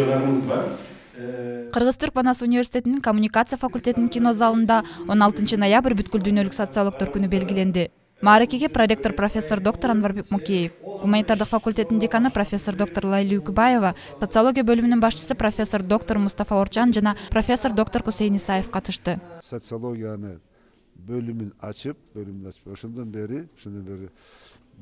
жыйынтыгыңыз бар. Кыргыз-Түрк Манас университетинин коммуникация факультетинин кино залында 16 ноябрь бүткүл дүйнөлүк социологдор күнү белгиленди. Мааракеге проректор профессор доктор Анварбек Мукеев, гуманитардык факультеттин деканы профессор доктор Лайли Үкүбаева, социология бөлүмүнүн башчысы профессор доктор Мустафа Орчан жана профессор доктор Кусейин Исаев катышты. Социологияны бөлүмүн ачып, ошондон бери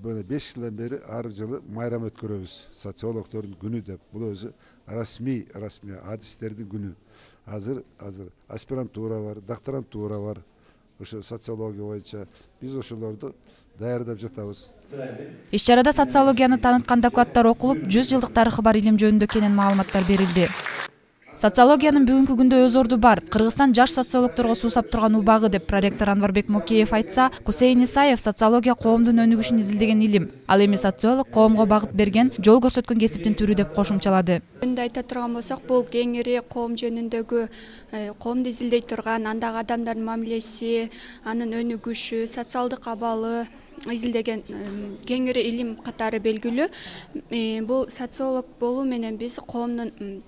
5 жылдан бери ар жылы майрам өткөрөбүз. Социологдордун күнү деп. Бул өзү расмий адистердин күнү. Азыр аспирантура бар, докторантура бар. Ошо социология боюнча биз ошолорду даярдап жатабыз. Иш-чарада социологияны тааныткан докладдар окулуп, 100 жылдык тарыхы бар илим жөнүндө кенен маалыматтар берилди. Социологиянын бүгүнкү күндө өз орду бар. Кыргызстан жаш социологдорго суусап турган убагы деп проректор Анварбек Мукеев айтса, Кусейин Исаев социология коомдун өнүгүшүн изилдеген илим. Ал эми социолог коомго багыт берген, жол көрсөткөн кесиптин түрү деп кошумчалады. Өнүндө айта турган болсок, бул кеңири коом жөнүндөгү, коомду изилдей турган, андагы адамдардын мамилеси, анын өнүгүшү, социалдык абалы изилдеген кеңири илим катары белгилүү. Бул социолог болуу менен биз коомдун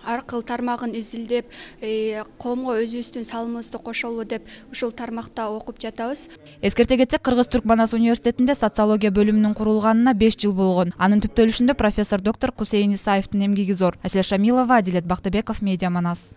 ар кыл тармагын изилдеп, коомго өзүбүздүн салымыбызды кошолу деп ушул тармакта окуп жатабыз. Эскерте кетсек, Кыргыз-Түрк Манас университетинде социология бөлүмүнүн курулганына 5 жыл болгон. Анын түптөлүшүндө профессор доктор Кусейин Исаевдин эмгеги зор. Асель Шамилова, Адилет Бактыбеков, Медиа Манас.